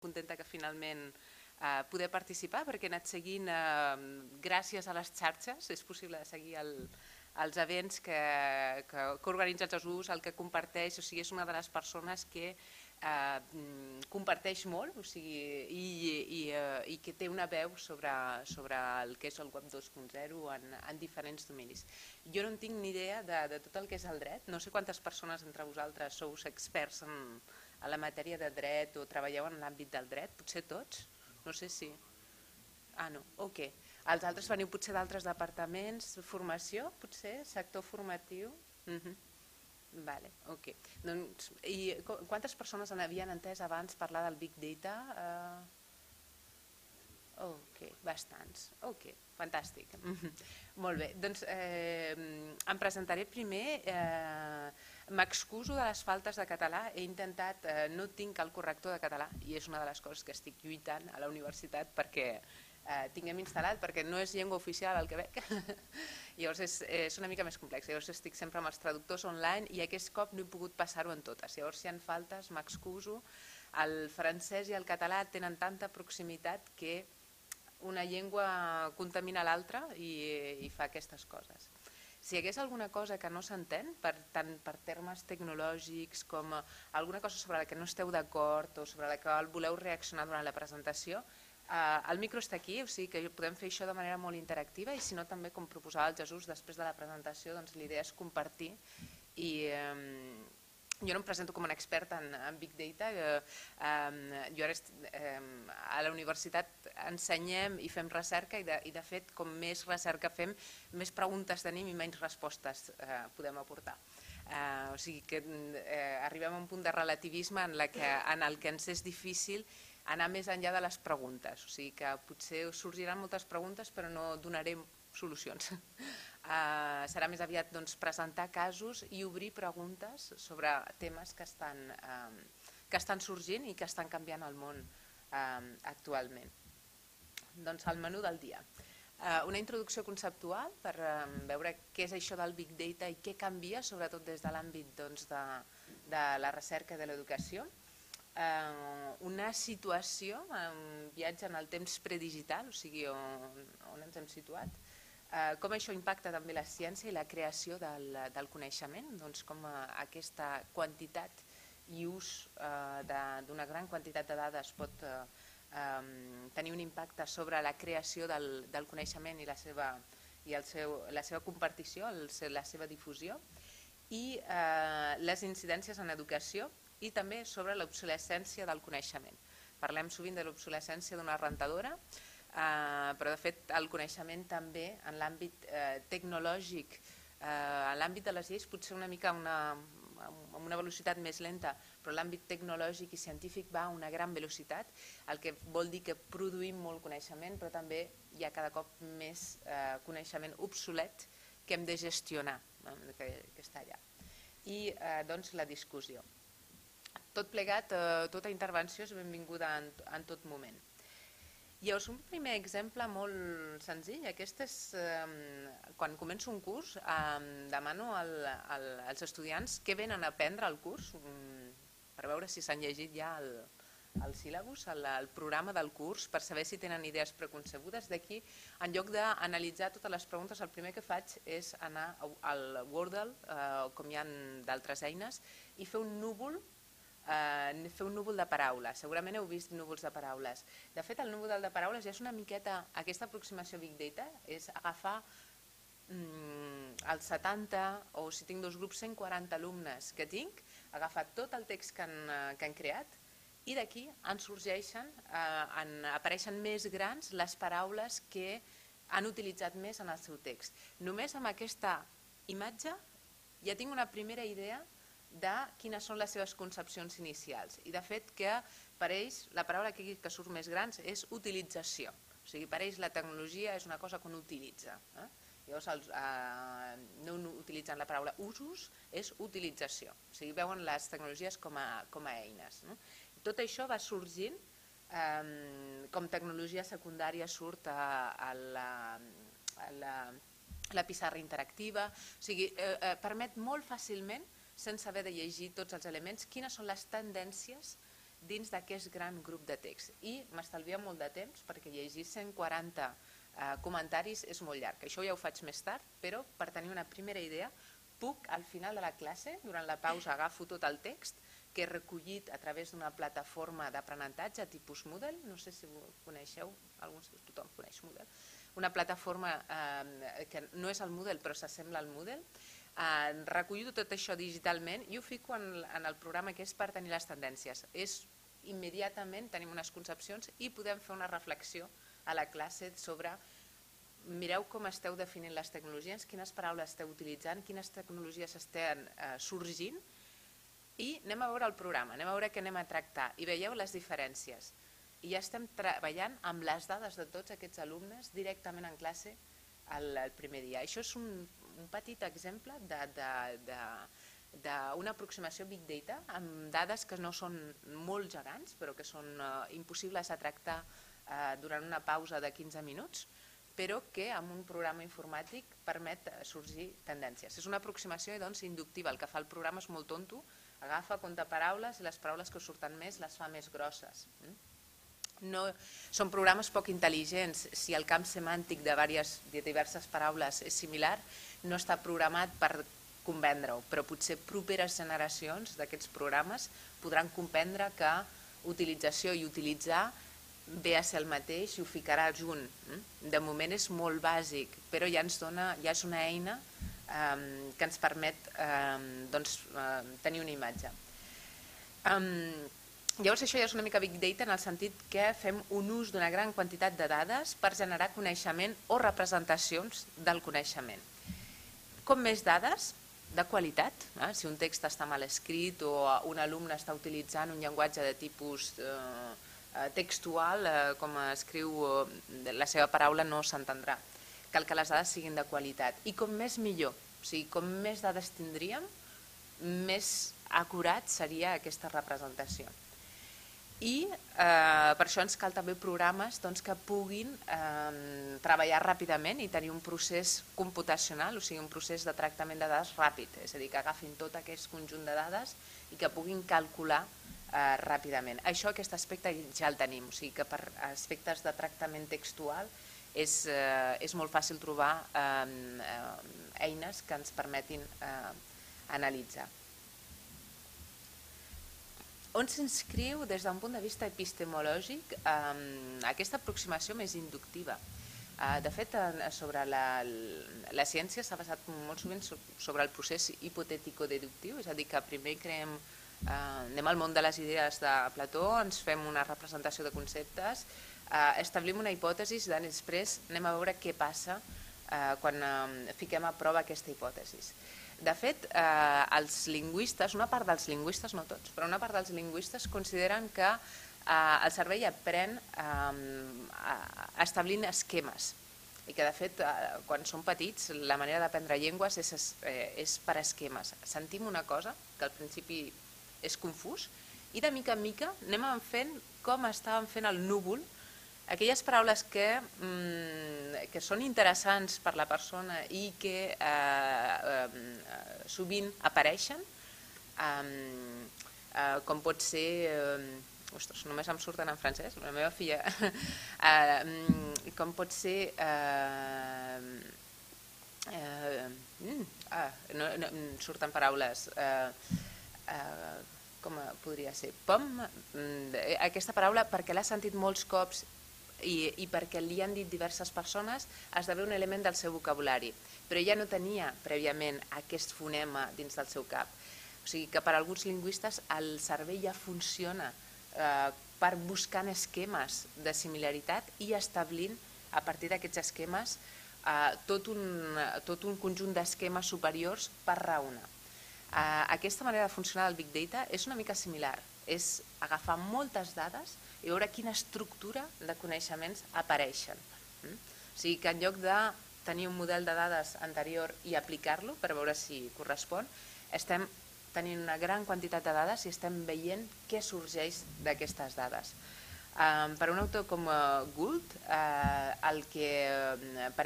contenta que finalment poder participar perquè he anat seguint, gràcies a les xarxes, és possible seguir els events que organitza Jesús, el que comparteix, o sigui, és una de les persones que comparteix molt, o sigui, i que té una veu sobre el que és el web 2.0 en diferents dominis. Jo no en tinc ni idea de tot el que és el dret, no sé quantes persones entre vosaltres sou experts en la matèria de dret o treballeu en l'àmbit del dret, potser tots, no sé si... Ah, no, ok. Els altres veniu potser d'altres departaments, formació, potser, sector formatiu... Vale, ok. I quantes persones havien entès abans parlar del Big Data? Ok, bastants. Ok, fantàstic. Molt bé, doncs em presentaré primer. M'excuso de les faltes de català. He intentat, no tinc el corrector de català i és una de les coses que estic lluitant a la universitat perquè tinguem instal·lat, perquè no és llengua oficial el Quebec. Llavors és una mica més complex. Llavors estic sempre amb els traductors online i aquest cop no he pogut passar-ho en totes. Llavors si hi ha faltes m'excuso. El francès i el català tenen tanta proximitat que una llengua contamina l'altra i fa aquestes coses. Si hi hagués alguna cosa que no s'entén, tant per termes tecnològics com alguna cosa sobre la que no esteu d'acord o sobre la que voleu reaccionar durant la presentació, el micro està aquí, o sigui que podem fer això de manera molt interactiva i si no també, com proposava el Jesús, després de la presentació l'idea és compartir i... Jo no em presento com una experta en Big Data, jo a la universitat ensenyem i fem recerca i de fet com més recerca fem, més preguntes tenim i menys respostes podem aportar. O sigui que arribem a un punt de relativisme en el que ens és difícil anar més enllà de les preguntes, o sigui que potser sorgiran moltes preguntes però no donarem solucions. Serà més aviat presentar casos i obrir preguntes sobre temes que estan sorgint i que estan canviant el món actualment. Doncs el menú del dia. Una introducció conceptual per veure què és això del Big Data i què canvia, sobretot des de l'àmbit de la recerca i de l'educació. Una situació, un viatge en el temps predigital, o sigui, on ens hem situat, com això impacta també la ciència i la creació del coneixement, com aquesta quantitat i ús d'una gran quantitat de dades pot tenir un impacte sobre la creació del coneixement i la seva compartició, la seva difusió, i les incidències en educació i també sobre l'obsolescència del coneixement. Parlem sovint de l'obsolescència d'una rentadora, però de fet el coneixement també en l'àmbit tecnològic, en l'àmbit de les lleis potser una mica amb una velocitat més lenta, però l'àmbit tecnològic i científic va a una gran velocitat, el que vol dir que produïm molt coneixement, però també hi ha cada cop més coneixement obsolet que hem de gestionar, que està allà. I doncs la discussió. Tot plegat, tota intervenció és benvinguda en tot moment. Llavors, un primer exemple molt senzill, aquest és quan començo un curs, demano als estudiants què venen a aprendre al curs, per veure si s'han llegit ja el síl·labus, el programa del curs, per saber si tenen idees preconcebudes. D'aquí, en lloc d'analitzar totes les preguntes, el primer que faig és anar al Wordle, com hi ha d'altres eines, i fer un núvol de paraules. Segurament heu vist núvols de paraules. De fet, el núvol de paraules ja és una miqueta, aquesta aproximació Big Data, és agafar els 70 o si tinc dos grups 140 alumnes que tinc, agafar tot el text que han creat i d'aquí en sorgeixen, apareixen més grans les paraules que han utilitzat més en el seu text. Només amb aquesta imatge ja tinc una primera idea de quines són les seves concepcions inicials. I de fet que per ells la paraula que surt més gran és utilització. O sigui, per ells la tecnologia és una cosa que un utilitza. Llavors no utilitzen la paraula usos, és utilització. O sigui, veuen les tecnologies com a eines. Tot això va sorgint com tecnologia secundària surt a la pissarra interactiva. O sigui, permet molt fàcilment sense haver de llegir tots els elements, quines són les tendències dins d'aquest gran grup de text. I m'estalvia molt de temps perquè llegir 140 comentaris és molt llarg. Això ja ho faig més tard, però per tenir una primera idea puc al final de la classe, durant la pausa, agafo tot el text que he recollit a través d'una plataforma d'aprenentatge tipus Moodle, no sé si ho coneixeu, tothom coneix Moodle, una plataforma que no és el Moodle però s'assembla al Moodle, recollo tot això digitalment i ho fico en el programa que és per tenir les tendències. Immediatament tenim unes concepcions i podem fer una reflexió a la classe sobre mireu com esteu definint les tecnologies, quines paraules esteu utilitzant, quines tecnologies estan sorgint i anem a veure el programa, anem a veure què anem a tractar i veieu les diferències. I ja estem treballant amb les dades de tots aquests alumnes directament en classe el primer dia. Això és un petit exemple d'una aproximació Big Data amb dades que no són molt gegants però que són impossibles de tractar durant una pausa de 15 minuts, però que amb un programa informàtic permet sorgir tendències. És una aproximació inductiva, el que fa el programa és molt tonto, agafa, compta paraules i les paraules que surten més les fa més grosses. Són programes poc intel·ligents. Si el camp semàntic de diverses paraules és similar, no està programat per comprendre-ho, però potser properes generacions d'aquests programes podran comprendre que utilització i utilitzar ve a ser el mateix i ho ficarà junt. De moment és molt bàsic, però ja és una eina que ens permet tenir una imatge. Llavors això ja és una mica Big Data en el sentit que fem un ús d'una gran quantitat de dades per generar coneixement o representacions del coneixement. Com més dades, de qualitat, si un text està mal escrit o un alumne està utilitzant un llenguatge de tipus textual, com escriu la seva paraula no s'entendrà. Cal que les dades siguin de qualitat. I com més millor, o sigui, com més dades tindríem, més acurat seria aquesta representació. I per això ens cal també programes que puguin treballar ràpidament i tenir un procés computacional, o sigui, un procés de tractament de dades ràpid, és a dir, que agafin tot aquest conjunt de dades i que puguin calcular ràpidament. Aquest aspecte ja el tenim, o sigui que per aspectes de tractament textual és molt fàcil trobar eines que ens permetin analitzar. On s'inscriu des d'un punt de vista epistemològic aquesta aproximació més inductiva? De fet, sobre la ciència s'ha basat molt sovint sobre el procés hipotètico-deductiu, és a dir, que primer anem al món de les idees de Plató, ens fem una representació de conceptes, establim una hipòtesi i després anem a veure què passa quan fiquem a prova aquesta hipòtesi. De fet, els lingüistes, una part dels lingüistes, no tots, però una part dels lingüistes consideren que el cervell aprèn establint esquemes i que de fet quan som petits la manera d'aprendre llengües és per esquemes. Sentim una cosa que al principi és confús i de mica en mica anem fent com estàvem fent el núvol, aquelles paraules que són interessants per la persona i que sovint apareixen, com pot ser, ostres, només em surten en francès, la meva filla, com pot ser, no surten paraules, com podria ser, pom, aquesta paraula perquè l'ha sentit molts cops i perquè li han dit diverses persones esdevé un element del seu vocabulari, però ella no tenia prèviament aquest fonema dins del seu cap. O sigui que per alguns lingüistes el cervell ja funciona per buscant esquemes de similaritat i establint a partir d'aquests esquemes tot un conjunt d'esquemes superiors per raonar. Aquesta manera de funcionar del Big Data és una mica similar, és agafar moltes dades i veure quina estructura de coneixements apareixen. O sigui que en lloc de tenir un model de dades anterior i aplicar-lo per veure si correspon, estem tenint una gran quantitat de dades i estem veient què sorgeix d'aquestes dades. Per un autor com Gould, per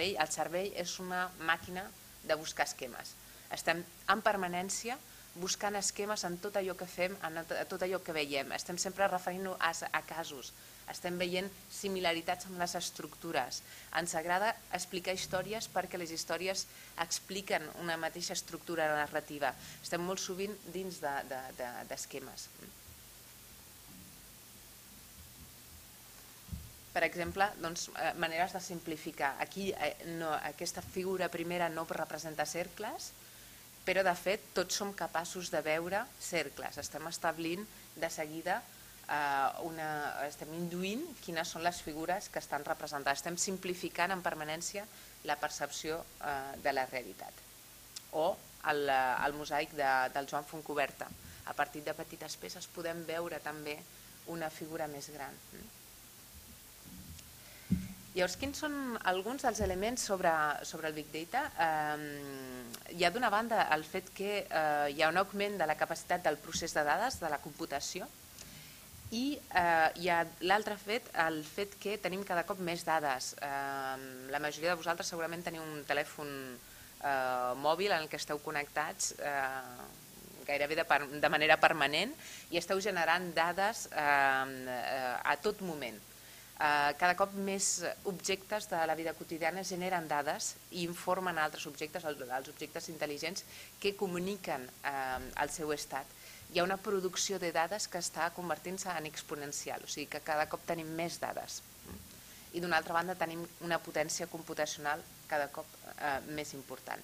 ell el cervell és una màquina de buscar esquemes. Estem en permanència buscant esquemes en tot allò que fem, en tot allò que veiem. Estem sempre referint-nos a casos, estem veient similaritats amb les estructures. Ens agrada explicar històries perquè les històries expliquen una mateixa estructura narrativa. Estem molt sovint dins d'esquemes. Per exemple, maneres de simplificar. Aquí aquesta figura primera no representa cercles, però de fet tots som capaços de veure cercles. Estem establint de seguida, estem induint quines són les figures que estan representades. Estem simplificant en permanència la percepció de la realitat. O el mosaic del Joan Fontcoberta. A partir de petites peces podem veure també una figura més gran. Llavors, quins són alguns dels elements sobre el Big Data? Hi ha d'una banda el fet que hi ha un augment de la capacitat del procés de dades, de la computació, i hi ha l'altre fet, el fet que tenim cada cop més dades. La majoria de vosaltres segurament teniu un telèfon mòbil en el que esteu connectats gairebé de manera permanent i esteu generant dades a tot moment. Cada cop més objectes de la vida quotidiana generen dades i informen altres objectes, els objectes intel·ligents, que comuniquen el seu estat. Hi ha una producció de dades que està convertint-se en exponencial, o sigui que cada cop tenim més dades. I d'una altra banda tenim una potència computacional cada cop més important.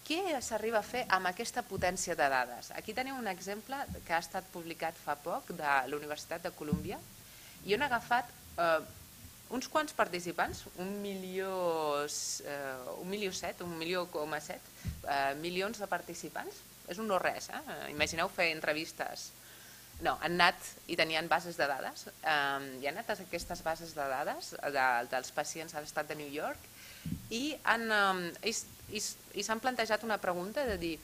Què s'arriba a fer amb aquesta potència de dades? Aquí teniu un exemple que ha estat publicat fa poc de la Universitat de Colúmbia i on ha agafat uns quants participants, 1,7 milions de participants, és un no res, imagineu fer entrevistes. No, han anat i tenien bases de dades, i han anat a aquestes bases de dades dels pacients a l'estat de New York i s'han plantejat una pregunta de dir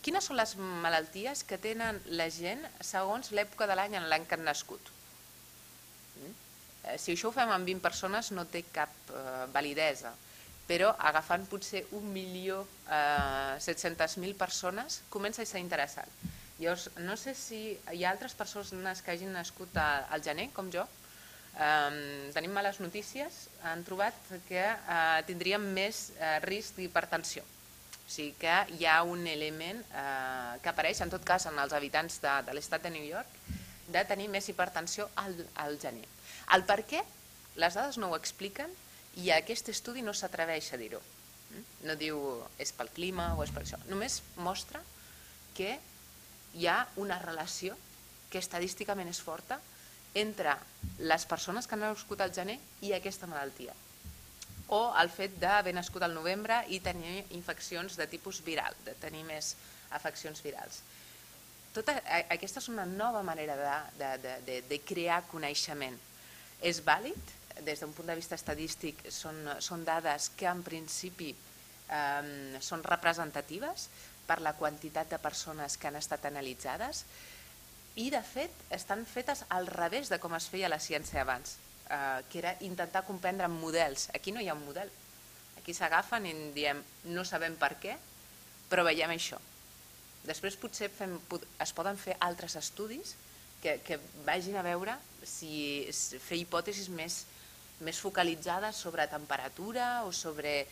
quines són les malalties que tenen la gent segons l'època de l'any en l'any que han nascut. Si això ho fem amb 20 persones no té cap validesa, però agafant potser 1.700.000 persones comença a ser interessant. Llavors, no sé si hi ha altres persones que hagin nascut al gener, com jo. Tenim males notícies, han trobat que tindríem més risc d'hipertensió. O sigui que hi ha un element que apareix, en tot cas en els habitants de l'estat de New York, de tenir més hipertensió al gener. El per què, les dades no ho expliquen i aquest estudi no s'atreveix a dir-ho. No diu és pel clima o és per això. Només mostra que hi ha una relació que estadísticament és forta entre les persones que han nascut al gener i aquesta malaltia. O el fet d'haver nascut al novembre i tenir infeccions de tipus viral, de tenir més afeccions virals. Aquesta és una nova manera de crear coneixement. És vàlid, des d'un punt de vista estadístic, són dades que en principi són representatives per la quantitat de persones que han estat analitzades i de fet estan fetes al revés de com es feia la ciència abans, que era intentar comprendre models. Aquí no hi ha un model, aquí s'agafen i diem no sabem per què, però veiem això. Després potser es poden fer altres estudis que vagin a veure si fer hipòtesis més focalitzades sobre temperatura o sobre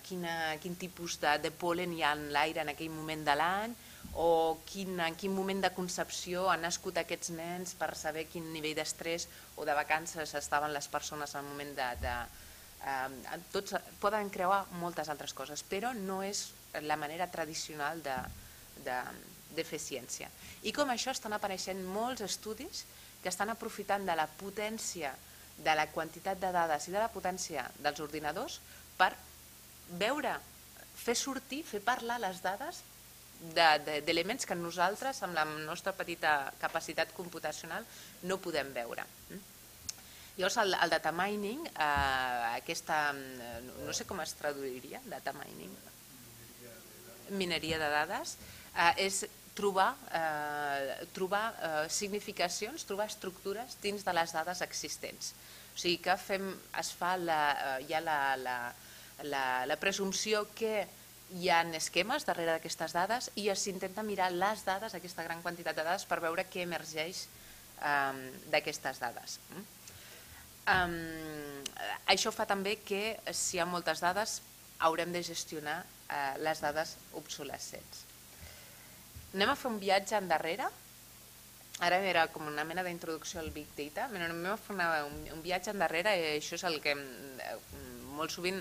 quin tipus de pol·len hi ha en l'aire en aquell moment de l'any o en quin moment de concepció han nascut aquests nens per saber quin nivell d'estrès o de vacances estaven les persones en el moment poden creuar moltes altres coses, però no és la manera tradicional de fer ciència. I com això estan apareixent molts estudis que estan aprofitant de la potència, de la quantitat de dades i de la potència dels ordinadors per veure, fer sortir, fer parlar les dades d'elements que nosaltres, amb la nostra petita capacitat computacional, no podem veure. Llavors, el data mining, no sé com es traduiria, data mining, mineria de dades, és trobar significacions, trobar estructures dins de les dades existents. O sigui que hi ha la presumpció que hi ha esquemes darrere d'aquestes dades i s'intenta mirar les dades, aquesta gran quantitat de dades, per veure què emergeix d'aquestes dades. Això fa també que si hi ha moltes dades haurem de gestionar les dades obsolescents. Anem a fer un viatge endarrere. Ara era com una mena d'introducció al Big Data, anem a fer un viatge endarrere i això és el que molt sovint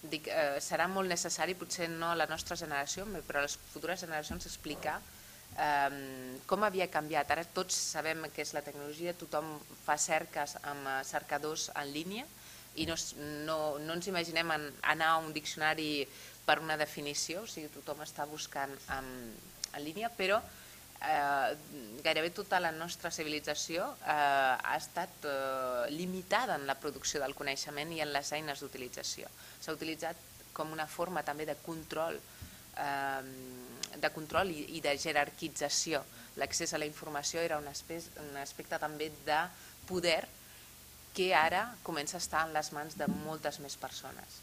dic, serà molt necessari, potser no a la nostra generació, però a les futures generacions explicar com havia canviat. Ara tots sabem què és la tecnologia, tothom fa cerques amb cercadors en línia i no ens imaginem anar a un diccionari per una definició, o sigui, tothom està buscant en línia, però gairebé tota la nostra civilització ha estat limitada en la producció del coneixement i en les eines d'utilització. S'ha utilitzat com una forma també de control i de jerarquització. L'accés a la informació era un aspecte també de poder que ara comença a estar en les mans de moltes més persones.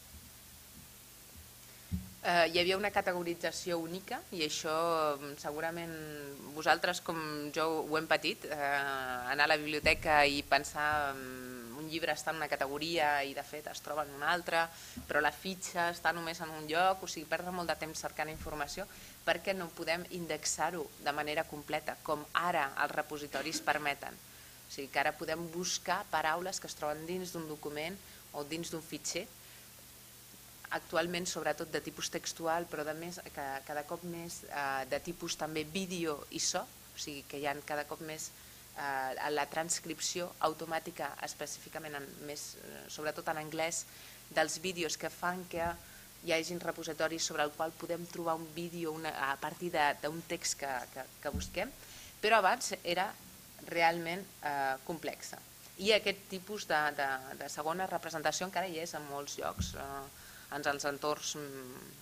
Hi havia una categorització única i això segurament vosaltres com jo ho hem patit, anar a la biblioteca i pensar un llibre està en una categoria i de fet es troba en una altra, però la fitxa està només en un lloc, o sigui, perdre molt de temps cercant informació perquè no podem indexar-ho de manera completa com ara els repositoris permeten. O sigui que ara podem buscar paraules que es troben dins d'un document o dins d'un fitxer, actualment sobretot de tipus textual, però cada cop més de tipus també vídeo i so, o sigui que hi ha cada cop més la transcripció automàtica específicament, sobretot en anglès, dels vídeos que fan que hi hagi repositoris sobre el qual podem trobar un vídeo a partir d'un text que busquem, però abans era realment complexa. I aquest tipus de segona representació encara hi és en molts llocs. En els entorns,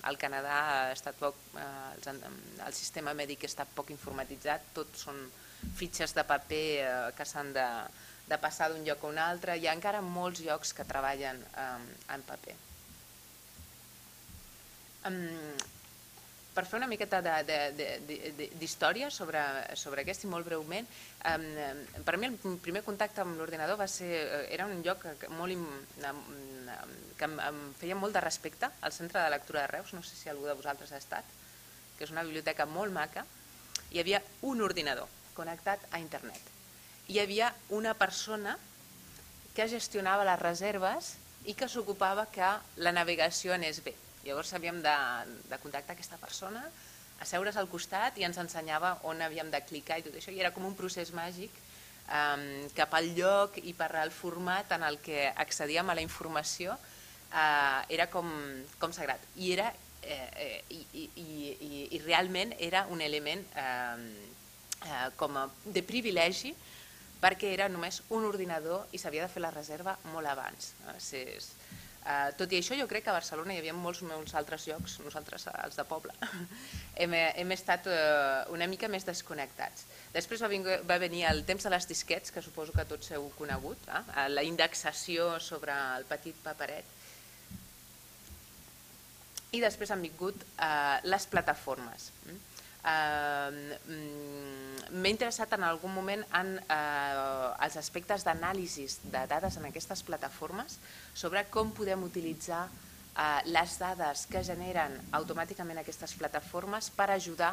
al Canadà el sistema mèdic està poc informatitzat, tot són fitxes de paper que s'han de passar d'un lloc a un altre, hi ha encara molts llocs que treballen en paper. Per fer una miqueta d'història sobre aquest i molt breument, per mi el primer contacte amb l'ordinador era un lloc que em feia molt de respecte, al Centre de Lectura de Reus, no sé si algú de vosaltres ha estat, que és una biblioteca molt maca. Hi havia un ordinador connectat a internet. Hi havia una persona que gestionava les reserves i que s'ocupava que la navegació anés bé. Llavors havíem de contactar aquesta persona, asseure's al costat i ens ensenyava on havíem de clicar i tot això, i era com un procés màgic cap al lloc i per al format en el que accedíem a la informació, era com sagrat. I realment era un element com de privilegi perquè era només un ordinador i s'havia de fer la reserva molt abans. Tot i això, jo crec que a Barcelona hi havia molts altres llocs, nosaltres, els de poble, hem estat una mica més desconnectats. Després va venir el temps de les disquets, que suposo que tots heu conegut, la indexació sobre el petit paperet, i després han vingut les plataformes. M'he interessat en algun moment en els aspectes d'anàlisi de dades en aquestes plataformes, sobre com podem utilitzar les dades que generen automàticament aquestes plataformes per ajudar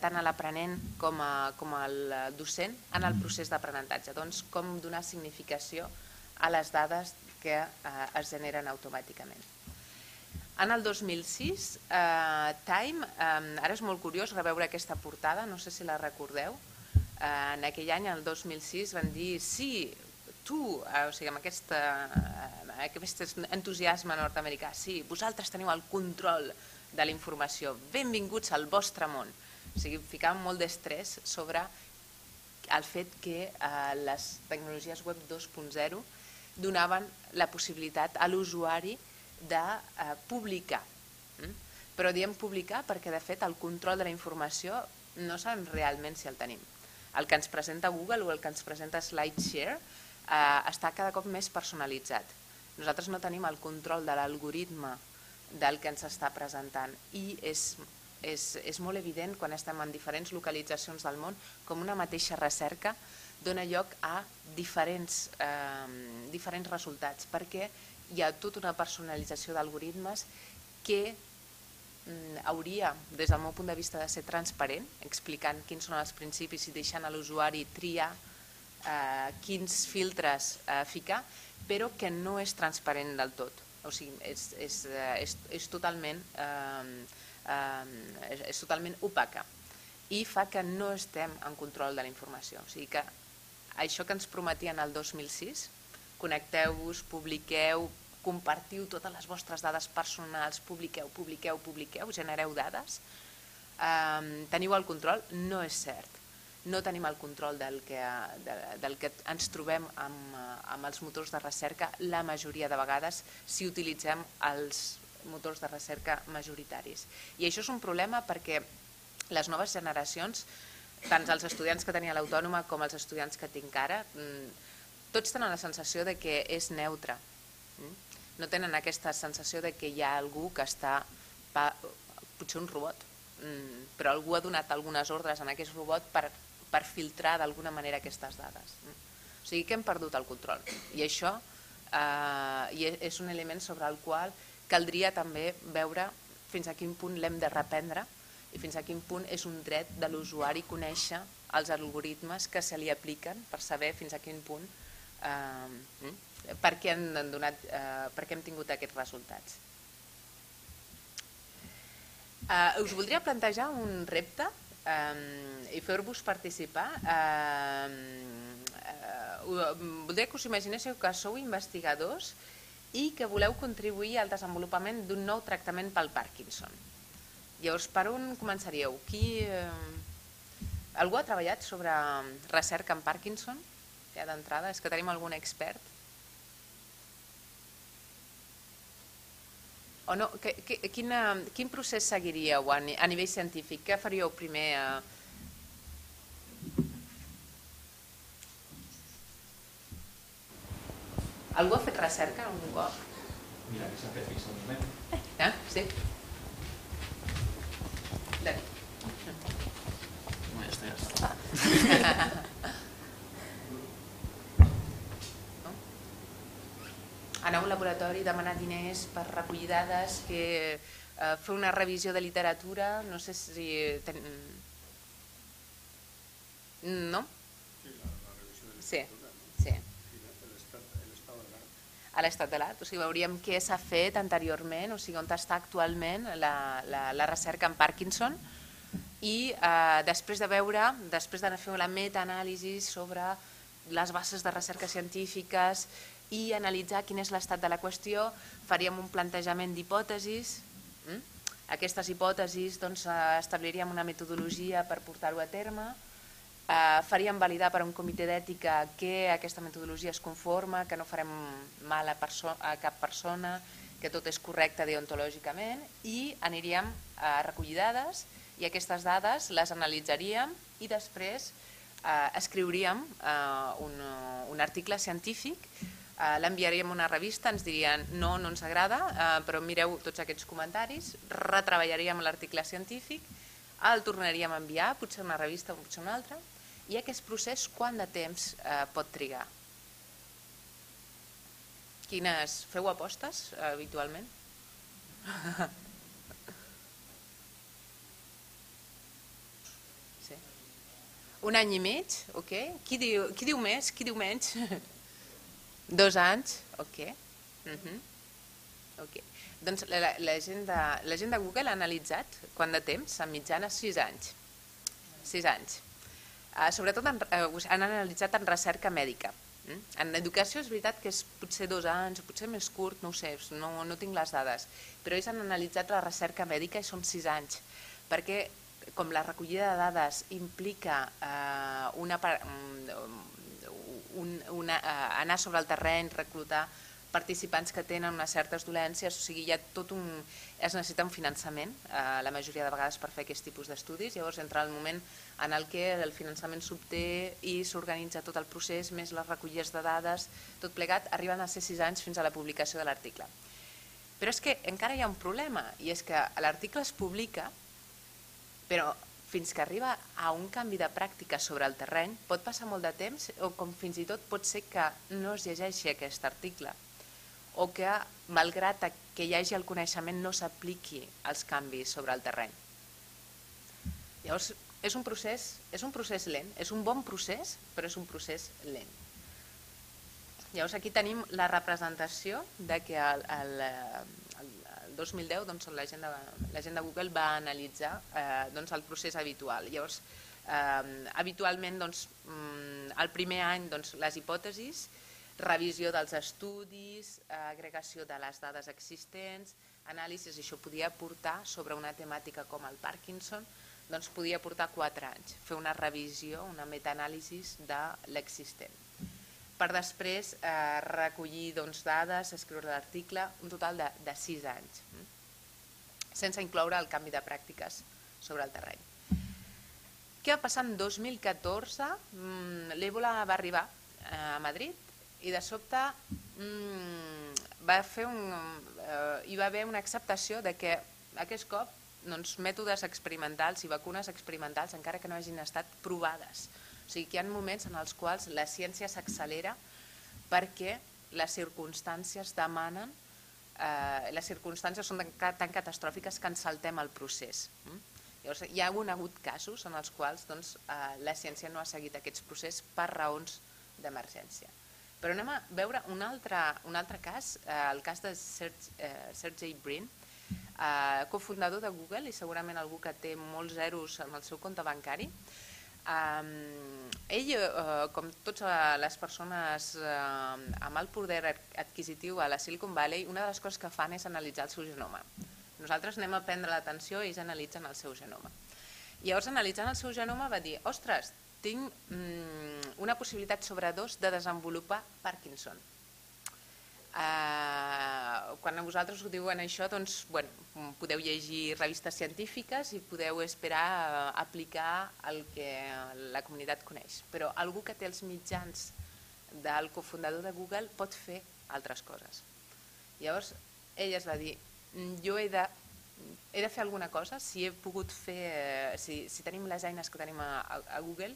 tant a l'aprenent com al docent en el procés d'aprenentatge. Doncs com donar significació a les dades que es generen automàticament. En el 2006, Time, ara és molt curiós reveure aquesta portada, no sé si la recordeu, en aquell any, el 2006, van dir sí, tu, o sigui, amb aquest entusiasme nord-americà, sí, vosaltres teniu el control de la informació, benvinguts al vostre món. O sigui, ficàvem molt d'estrès sobre el fet que les tecnologies web 2.0 donaven la possibilitat a l'usuari de publicar, però diem publicar perquè de fet el control de la informació no sabem realment si el tenim. El que ens presenta Google o el que ens presenta SlideShare està cada cop més personalitzat. Nosaltres no tenim el control de l'algoritme del que ens està presentant. I és molt evident quan estem en diferents localitzacions del món com una mateixa recerca dona lloc a diferents resultats, perquè hi ha tota una personalització d'algoritmes que hauria, des del meu punt de vista, de ser transparent, explicant quins són els principis i deixant a l'usuari triar quins filtres ficar, però que no és transparent del tot. O sigui, és totalment opaca i fa que no estem en control de la informació. O sigui que això que ens prometien el 2006, connecteu-vos, publiqueu, compartiu totes les vostres dades personals, publiqueu, genereu dades, teniu el control, no és cert. No tenim el control del que ens trobem amb els motors de recerca la majoria de vegades si utilitzem els motors de recerca majoritaris. I això és un problema perquè les noves generacions, tant els estudiants que tenia l'Autònoma com els estudiants que tinc ara, tots tenen la sensació de que és neutre. No tenen aquesta sensació de que hi ha algú que està, potser un robot, però algú ha donat algunes ordres en aquest robot per filtrar d'alguna manera aquestes dades. O sigui que hem perdut el control. I això és un element sobre el qual caldria també veure fins a quin punt l'hem de reprendre i fins a quin punt és un dret de l'usuari conèixer els algoritmes que se li apliquen per saber fins a quin punt per què hem tingut aquests resultats. Us voldria plantejar un repte i fer-vos participar. Voldria que us imaginéssiu que sou investigadors i que voleu contribuir al desenvolupament d'un nou tractament pel Parkinson. Llavors, per on començaríeu? Algú ha treballat sobre recerca en Parkinson? Ja d'entrada, és que tenim algun expert? O no? Quin procés seguiríeu a nivell científic? Què faríeu primer? Algú ha fet recerca algun cop? Mira, que s'ha fet fix al moment. Sí. No, ja està. Anar a un laboratori, demanar diners per recollir dades, fer una revisió de literatura, no sé si... No? Sí, sí. A l'estat de l'art, o sigui, veuríem què s'ha fet anteriorment, o sigui, on està actualment la recerca en Parkinson i després de fer la metaanàlisi sobre les bases de recerca científiques i analitzar quin és l'estat de la qüestió, faríem un plantejament d'hipòtesis. Aquestes hipòtesis establiríem una metodologia per portar-ho a terme, faríem validar per un comitè d'ètica que aquesta metodologia es conforma, que no farem mal a cap persona, que tot és correcte deontològicament, i aniríem a recollir dades i aquestes dades les analitzaríem i després escriuríem un article científic, l'enviaríem a una revista, ens dirien no ens agrada, però mireu tots aquests comentaris, retreballaríem l'article científic, el tornaríem a enviar, potser a una revista o potser a una altra, i aquest procés quant de temps pot trigar? Feu apostes habitualment? Sí. Un any i mig, ok. Qui diu més, qui diu menys? 2 anys, ok. Doncs la gent de Google ha analitzat quant de temps, en mitjana 6 anys. 6 anys. Sobretot han analitzat en recerca mèdica. En educació és veritat que és potser 2 anys, potser més curt, no ho sé, no tinc les dades, però ells han analitzat la recerca mèdica i són 6 anys, perquè com la recollida de dades implica anar sobre el terreny, reclutar participants que tenen unes certes dolències, o sigui, es necessita un finançament la majoria de vegades per fer aquest tipus d'estudis, llavors entra el moment en el que el finançament s'obté i s'organitza tot el procés, més les recollides de dades, tot plegat, arriben a ser 6 anys fins a la publicació de l'article. Però és que encara hi ha un problema, i és que l'article es publica, però fins que arriba a un canvi de pràctica sobre el terreny pot passar molt de temps, o com fins i tot pot ser que no es llegeixi aquest article, o que malgrat que hi hagi el coneixement no s'apliqui als canvis sobre el terreny. Llavors és un procés lent, és un bon procés, però és un procés lent. Llavors aquí tenim la representació de que el 2010 l'agenda Google va analitzar el procés habitual. Llavors, habitualment el primer any les hipòtesis, revisió dels estudis, agregació de les dades existents, anàlisis, això podia portar sobre una temàtica com el Parkinson, podia portar 4 anys, fer una revisió, una metaanàlisi de l'existent. Per després recollir dades, escriure l'article, un total de 6 anys, sense incloure el canvi de pràctiques sobre el terreny. Què va passar en 2014? L'Ébola va arribar a Madrid i de sobte hi va haver una acceptació de que aquest cop mètodes experimentals i vacunes experimentals, encara que no hagin estat provades. O sigui que hi ha moments en els quals la ciència s'accelera perquè les circumstàncies demanen, les circumstàncies són tan catastròfiques que ens saltem el procés. Llavors, hi ha hagut casos en els quals la ciència no ha seguit aquests processos per raons d'emergència. Però anem a veure un altre cas, el cas de Sergey Brin, cofundador de Google i segurament algú que té molts zeros en el seu compte bancari. Ell, com totes les persones amb el poder adquisitiu a la Silicon Valley, una de les coses que fan és analitzar el seu genoma. Nosaltres anem a prendre l'atenció i ells analitzen el seu genoma. Llavors, analitzant el seu genoma va dir, ostres, tinc una possibilitat sobre 2 de desenvolupar Parkinson. Quan vosaltres ho diuen això, podeu llegir revistes científiques i podeu esperar aplicar el que la comunitat coneix. Però algú que té els mitjans del cofundador de Google pot fer altres coses. Llavors, ell es va dir, jo he de fer alguna cosa, si tenim les eines que tenim a Google,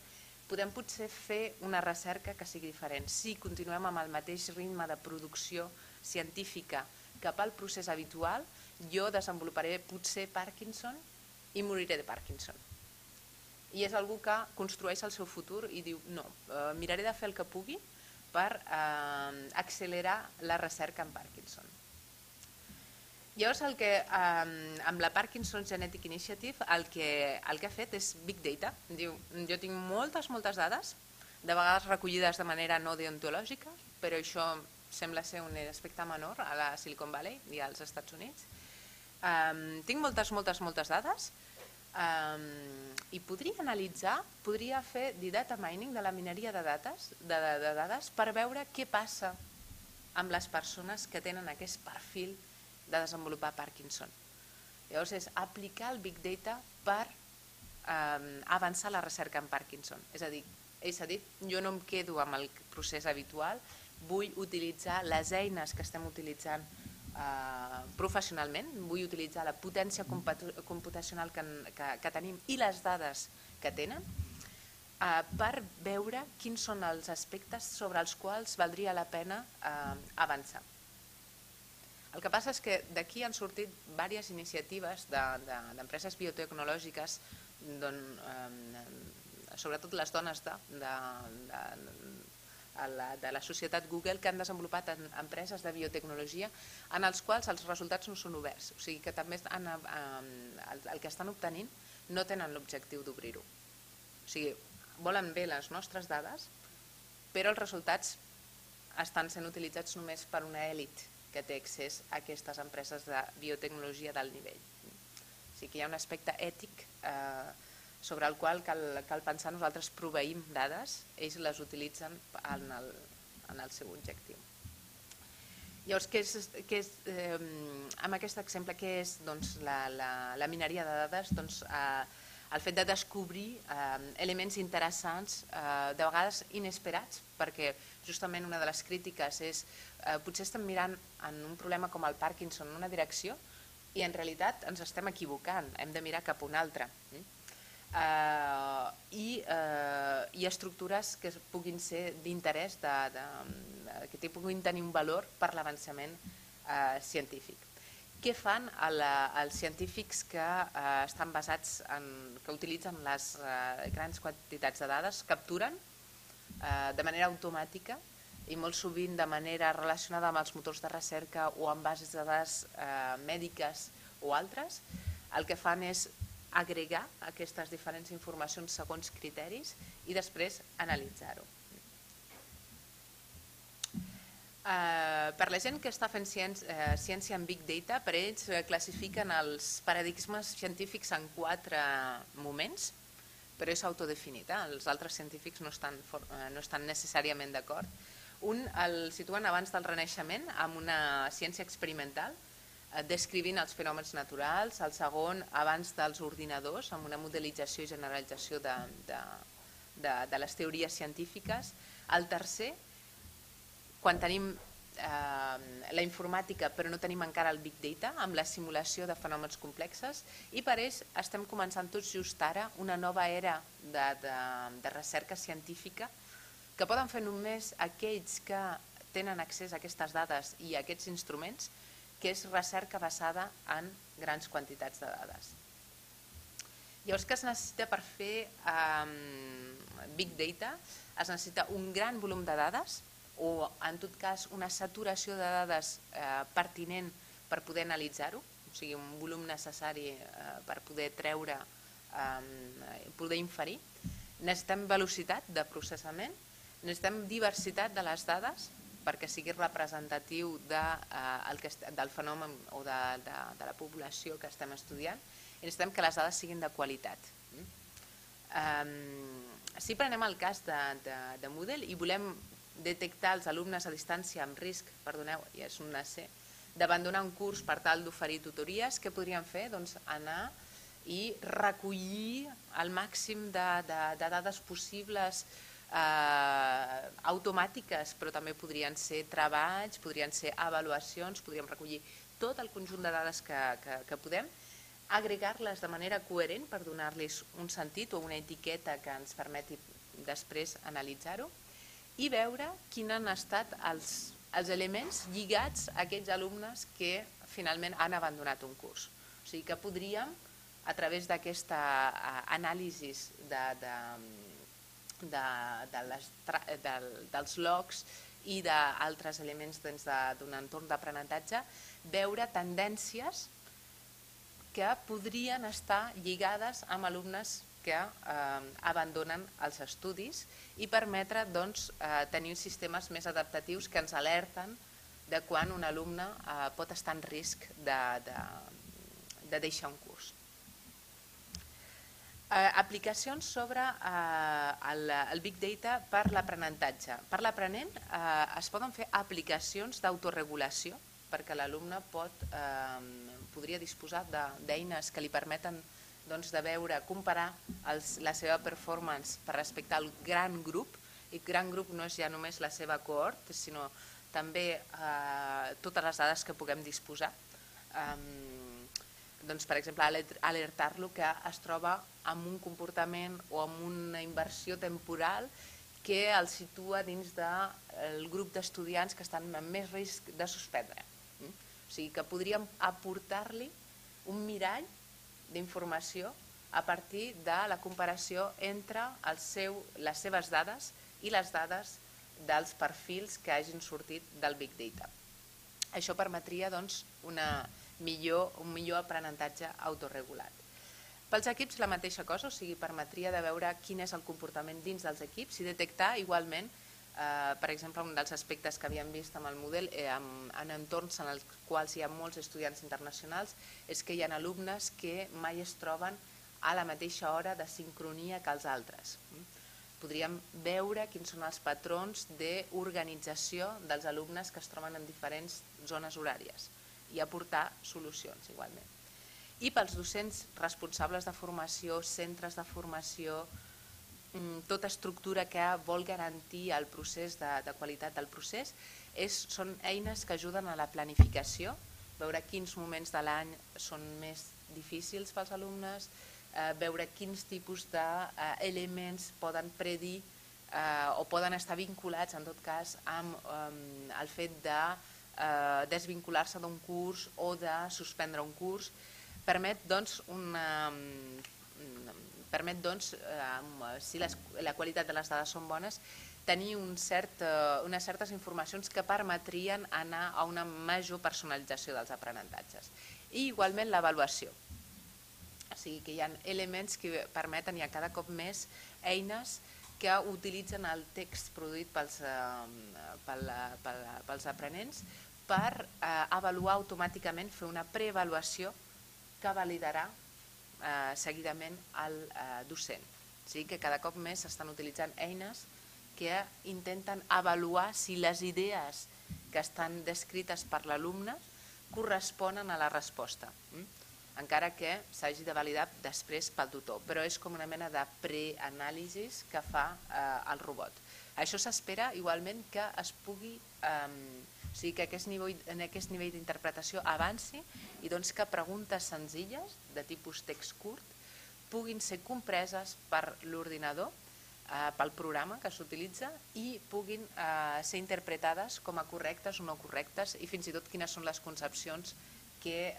podem potser fer una recerca que sigui diferent. Si continuem amb el mateix ritme de producció científica cap al procés habitual, jo desenvoluparé potser Parkinson i moriré de Parkinson. I és algú que construeix el seu futur i diu, no, miraré de fer el que pugui per accelerar la recerca en Parkinson. Llavors, amb la Parkinson Genetic Initiative, el que ha fet és Big Data. Diu, jo tinc moltes dades, de vegades recollides de manera no deontològica, però això sembla ser un aspecte menor a la Silicon Valley i als Estats Units. Tinc moltes dades i podria fer data mining de la mineria de dades per veure què passa amb les persones que tenen aquest perfil de desenvolupar Parkinson. Llavors és aplicar el Big Data per avançar la recerca en Parkinson. És a dir, ell s'ha dit, jo no em quedo amb el procés habitual, vull utilitzar les eines que estem utilitzant professionalment, vull utilitzar la potència computacional que tenim i les dades que tenen per veure quins són els aspectes sobre els quals valdria la pena avançar. El que passa és que d'aquí han sortit diverses iniciatives d'empreses biotecnològiques, sobretot les dones de la societat Google, que han desenvolupat empreses de biotecnologia en els quals els resultats no són oberts. O sigui que també el que estan obtenint no tenen l'objectiu d'obrir-ho. O sigui, volen bé les nostres dades, però els resultats estan sent utilitzats només per una èlit que té accés a aquestes empreses de biotecnologia d'alt nivell. O sigui que hi ha un aspecte ètic sobre el qual cal pensar. Nosaltres proveïm dades, ells les utilitzen en el seu objectiu. Llavors, amb aquest exemple, què és la mineria de dades? el fet de descobrir elements interessants, de vegades inesperats, perquè justament una de les crítiques és potser estem mirant en un problema com el Parkinson en una direcció i en realitat ens estem equivocant, hem de mirar cap a una altra. I estructures que puguin ser d'interès, que puguin tenir un valor per l'avançament científic. Què fan els científics que estan basats que utilitzen les grans quantitats de dades? Capturen de manera automàtica i molt sovint de manera relacionada amb els motors de recerca o amb bases de dades mèdiques o altres. El que fan és agregar aquestes diferents informacions segons criteris i després analitzar-ho. Per la gent que està fent ciència en Big Data, per ells classifiquen els paradigmes científics en 4 moments, però és autodefinit, els altres científics no estan necessàriament d'acord. Un el situen abans del Renaixement amb una ciència experimental, descrivint els fenòmens naturals. El segon abans dels ordinadors, amb una modelització i generalització de les teories científiques. El tercer, quan tenim la informàtica però no tenim encara el Big Data, amb la simulació de fenòmens complexes, i per ells estem començant tots just ara una nova era de recerca científica que poden fer només aquells que tenen accés a aquestes dades i a aquests instruments, que és recerca basada en grans quantitats de dades. Llavors, què es necessita per fer Big Data? Es necessita un gran volum de dades o, en tot cas, una saturació de dades pertinent per poder analitzar-ho, o sigui, un volum necessari per poder treure, poder inferir. Necessitem velocitat de processament, necessitem diversitat de les dades perquè sigui representatiu del fenomen o de la població que estem estudiant, i necessitem que les dades siguin de qualitat. Si prenem el cas de Moodle i volem detectar els alumnes a distància amb risc, perdoneu, ja és un C, d'abandonar un curs per tal d'oferir tutories, què podríem fer? Doncs anar i recollir el màxim de dades possibles, automàtiques, però també podrien ser treballs, podrien ser avaluacions, podríem recollir tot el conjunt de dades que podem, agregar-les de manera coherent per donar-los un sentit o una etiqueta que ens permeti després analitzar-ho i veure quins han estat els elements lligats a aquells alumnes que finalment han abandonat un curs. O sigui que podríem, a través d'aquesta anàlisi dels logs i d'altres elements d'un entorn d'aprenentatge, veure tendències que podrien estar lligades amb alumnes que abandonen els estudis i permetre tenir sistemes més adaptatius que ens alerten de quan un alumne pot estar en risc de deixar un curs. Aplicacions sobre el Big Data per l'aprenentatge. Per l'aprenent es poden fer aplicacions d'autoregulació perquè l'alumne podria disposar d'eines que li permeten de veure, comparar la seva performance per respecte al gran grup, i gran grup no és ja només la seva cohort, sinó també totes les dades que puguem disposar. Per exemple, alertar-lo que es troba amb un comportament o amb una inversió temporal que el situa dins del grup d'estudiants que estan amb més risc de suspendre. O sigui que podríem aportar-li un mirall d'informació a partir de la comparació entre les seves dades i les dades dels perfils que hagin sortit del Big Data. Això permetria un millor aprenentatge autorregulat. Pels equips la mateixa cosa, o sigui, permetria de veure quin és el comportament dins dels equips i detectar igualment, per exemple, un dels aspectes que havíem vist amb el model en entorns en els quals hi ha molts estudiants internacionals és que hi ha alumnes que mai es troben a la mateixa hora de sincronia que els altres. Podríem veure quins són els patrons d'organització dels alumnes que es troben en diferents zones horàries i aportar solucions igualment. I pels docents responsables de formació, centres de formació, tota estructura que vol garantir el procés de qualitat del procés, són eines que ajuden a la planificació, veure quins moments de l'any són més difícils pels alumnes, veure quins tipus d'elements poden predir o poden estar vinculats, en tot cas, amb el fet de desvincular-se d'un curs o de suspendre un curs. Permet, doncs, si la qualitat de les dades són bones, tenir unes certes informacions que permetrien anar a una major personalització dels aprenentatges. I igualment l'avaluació. O sigui que hi ha elements que permeten, hi ha cada cop més eines que utilitzen el text produït pels aprenents per avaluar automàticament, fer una preavaluació que validarà seguidament el docent. O sigui que cada cop més s'estan utilitzant eines que intenten avaluar si les idees que estan descrites per l'alumne corresponen a la resposta, encara que s'hagi de validar després pel tutor, però és com una mena de preanàlisi que fa el robot. Això s'espera igualment que es pugui, o sigui que en aquest nivell d'interpretació avanci i que preguntes senzilles de tipus text curt puguin ser compreses per l'ordinador, pel programa que s'utilitza i puguin ser interpretades com a correctes o no correctes i fins i tot quines són les concepcions que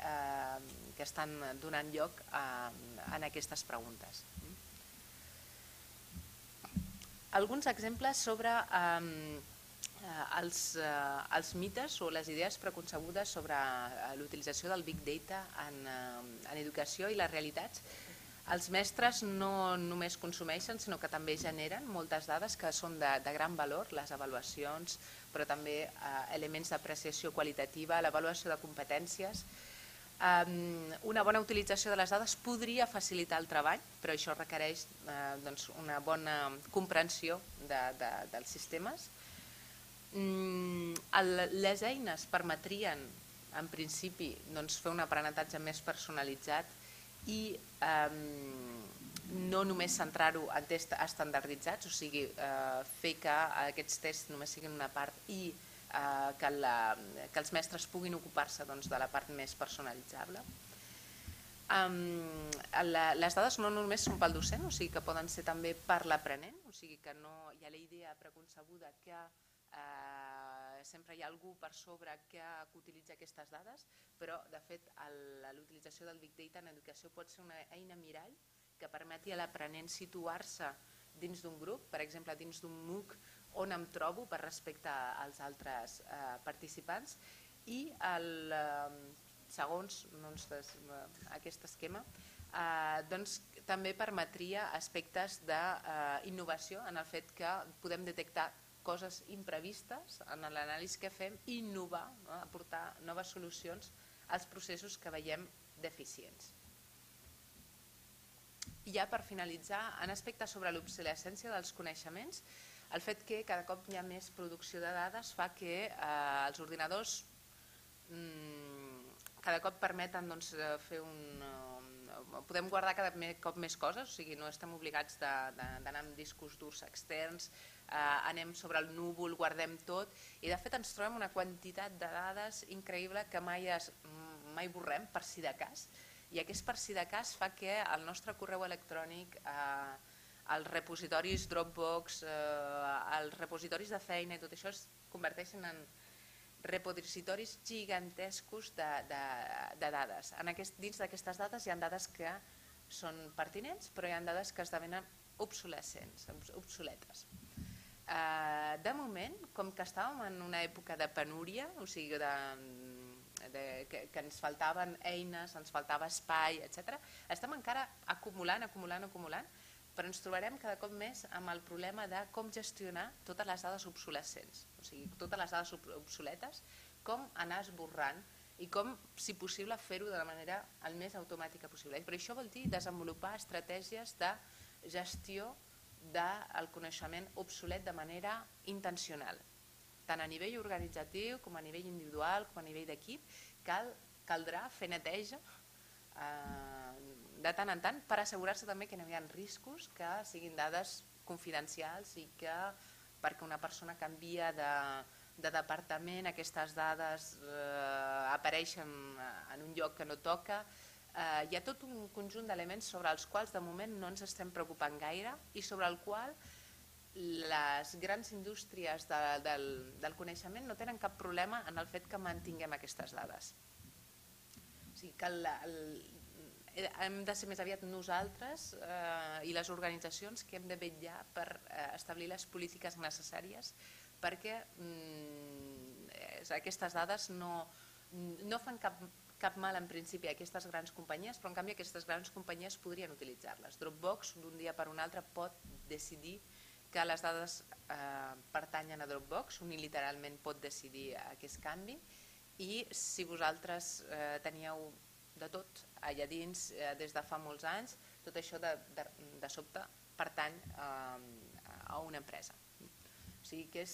estan donant lloc en aquestes preguntes. Alguns exemples sobre els mites o les idees preconcebudes sobre l'utilització del Big Data en educació i les realitats. Els mestres no només consumeixen, sinó que també generen moltes dades que són de gran valor, les avaluacions, però també elements d'apreciació qualitativa, l'avaluació de competències. Una bona utilització de les dades podria facilitar el treball, però això requereix una bona comprensió dels sistemes. Les eines permetrien, en principi, fer un aprenentatge més personalitzat i no només centrar-ho en tests estandarditzats, o sigui, fer que aquests tests només siguin una part i que els mestres puguin ocupar-se de la part més personalitzable. Les dades no només són pel docent, o sigui que poden ser també per l'aprenent, o sigui que no hi ha la idea preconcebuda que sempre hi ha algú per sobre que utilitza aquestes dades, però de fet l'utilització del Big Data en educació pot ser una eina mirall que permeti a l'aprenent situar-se dins d'un grup, per exemple dins d'un MOOC on em trobo per respecte als altres participants i segons aquest esquema també permetria aspectes d'innovació en el fet que podem detectar coses imprevistes en l'anàlisi que fem i innovar, aportar noves solucions als processos que veiem deficients. I ja per finalitzar, en aspectes sobre l'obsolescència dels coneixements, el fet que cada cop hi ha més producció de dades fa que els ordinadors cada cop permeten fer podem guardar cada cop més coses, o sigui, no estem obligats d'anar amb discos durs externs, anem sobre el núvol, guardem tot i de fet ens trobem una quantitat de dades increïble que mai borrem per si de cas i aquest per si de cas fa que el nostre correu electrònic, els repositoris Dropbox, els repositoris de feina i tot això es converteixen en repositoris gigantescos de dades. Dins d'aquestes dades hi ha dades que són pertinents, però hi ha dades que esdevenen obsoletes. De moment, com que estàvem en una època de penúria, o sigui que ens faltaven eines, ens faltava espai, etc., estem encara acumulant, però ens trobarem cada cop més amb el problema de com gestionar totes les dades obsolescents, o sigui, totes les dades obsoletes, com anar esborrant i com, si possible, fer-ho de la manera el més automàtica possible. Però això vol dir desenvolupar estratègies de gestió del coneixement obsolet de manera intencional, tant a nivell organitzatiu com a nivell individual, com a nivell d'equip. Caldrà fer neteja de tant en tant, per assegurar-se també que no hi ha riscos que siguin dades confidencials i que perquè una persona canvia de departament aquestes dades apareixen en un lloc que no toca. Hi ha tot un conjunt d'elements sobre els quals de moment no ens estem preocupant gaire i sobre el qual les grans indústries del coneixement no tenen cap problema en el fet que mantinguem aquestes dades. O sigui que hem de ser més aviat nosaltres i les organitzacions que hem de vetllar per establir les polítiques necessàries perquè aquestes dades no fan cap mal en principi a aquestes grans companyies, però en canvi aquestes grans companyies podrien utilitzar-les. Dropbox d'un dia per un altre pot decidir que les dades pertanyen a Dropbox, unilateralment pot decidir aquest canvi i si vosaltres teníeu de tot allà dins des de fa molts anys, tot això de sobte pertany a una empresa. O sigui que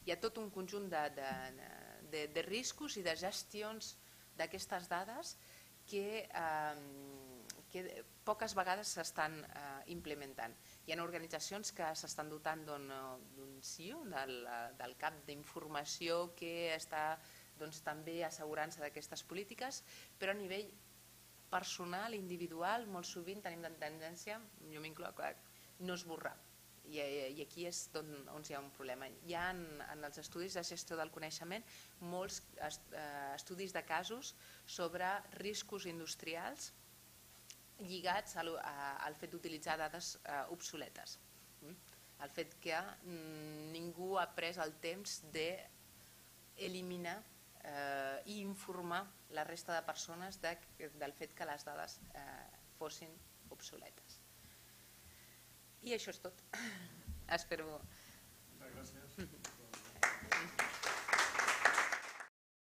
hi ha tot un conjunt de riscos i de gestions d'aquestes dades que poques vegades s'estan implementant. Hi ha organitzacions que s'estan dotant d'un CEO, del cap d'informació que està també assegurant-se d'aquestes polítiques, però a nivell personal, individual, molt sovint tenim la tendència, jo m'incloc, no esborrar. I aquí és on hi ha un problema. Hi ha en els estudis de gestió del coneixement molts estudis de casos sobre riscos industrials lligats al fet d'utilitzar dades obsoletes. El fet que ningú ha pres el temps d'eliminar i informar la resta de persones del fet que les dades fossin obsoletes. I això és tot. Espero... Moltes gràcies.